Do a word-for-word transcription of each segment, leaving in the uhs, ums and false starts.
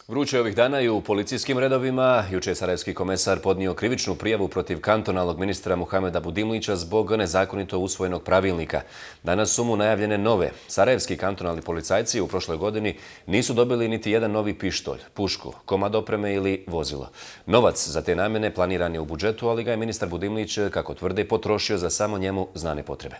Vruće ovih dana i u policijskim redovima. Juče je sarajevski komesar podnio krivičnu prijavu protiv kantonalnog ministra Muhameda Budimlića zbog nezakonito usvojenog pravilnika. Danas su mu najavljene nove. Sarajevski kantonalni policajci u prošloj godini nisu dobili niti jedan novi pištolj, pušku, komad opreme ili vozilo. Novac za te namjene planiran je u budžetu, ali ga je ministar Budimlić, kako tvrde, potrošio za samo njemu znane potrebe.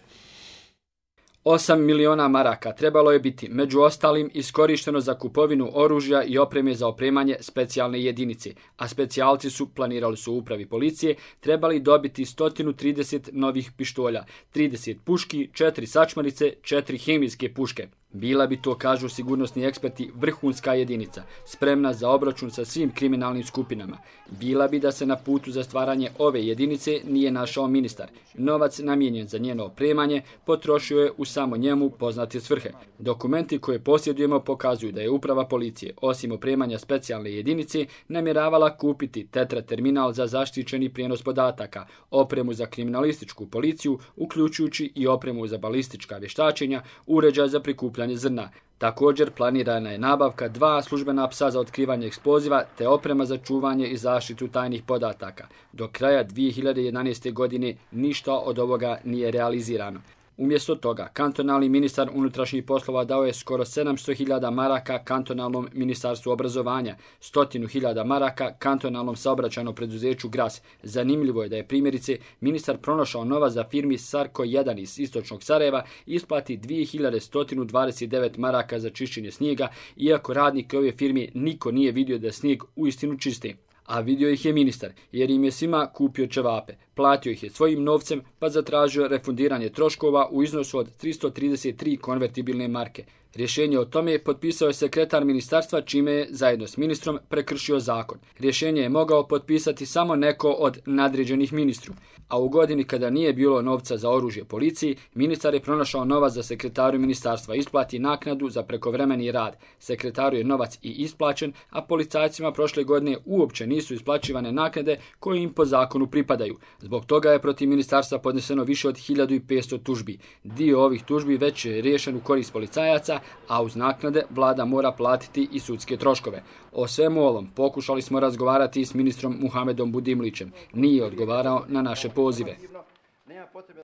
Osam miliona maraka trebalo je biti, među ostalim, iskorišteno za kupovinu oružja i opreme za opremanje specijalne jedinice, a specijalci su, planirali su u upravi policije, trebali dobiti sto trideset novih pištolja, trideset puški, četiri sačmarice, četiri hemijske puške. Bila bi to, kažu sigurnosni eksperti, vrhunska jedinica, spremna za obračun sa svim kriminalnim skupinama. Bila bi da se na putu za stvaranje ove jedinice nije našao ministar. Novac namijenjen za njeno opremanje potrošio je u samo njemu poznate svrhe. Dokumenti koje posjedujemo pokazuju da je uprava policije, osim opremanja specijalne jedinice, namjeravala kupiti tetra terminal za zaštićeni prijenos podataka, opremu za kriminalističku policiju, uključujući i opremu za balistička vještačenja, uređaj za prikupljanje zrna. Također planirana je nabavka dva službena psa za otkrivanje eksploziva te oprema za čuvanje i zaštitu tajnih podataka. Do kraja dvije hiljade jedanaeste. godine ništa od ovoga nije realizirano. Umjesto toga, kantonalni ministar unutrašnjih poslova dao je skoro sedamsto hiljada maraka kantonalnom ministarstvu obrazovanja, sto hiljada maraka kantonalnom saobraćajnom preduzeću Gras. Zanimljivo je da je primjerice ministar pronašao novac za firmi Sarko jedan iz istočnog Sarajeva isplati dvije hiljade sto dvadeset devet maraka za čišćenje snijega, iako radnike ove firme niko nije vidio da snijeg uistinu čiste. A vidio ih je ministar, jer im je svima kupio ćevape. Platio ih je svojim novcem, pa zatražio refundiranje troškova u iznosu od tristo trideset tri konvertibilne marke. Rješenje o tome potpisao je sekretar ministarstva, čime je, zajedno s ministrom, prekršio zakon. Rješenje je mogao potpisati samo neko od nadređenih ministru. A u godini kada nije bilo novca za oružje policiji, ministar je pronašao novac za sekretaru ministarstva, isplati naknadu za prekovremeni rad. Sekretaru je novac i isplaćen, a policajcima prošle godine uopće nisu isplaćivane naknade koje im po zakonu pripadaju. Zbog toga je protiv ministarstva podneseno više od hiljadu petsto tužbi. Dio ovih tužbi već je riješen u korist policajaca, a uz naknade vlada mora platiti i sudske troškove. O svemu ovom pokušali smo razgovarati s ministrom Muhamedom Budimlićem. Nije odgovarao na naše pozive.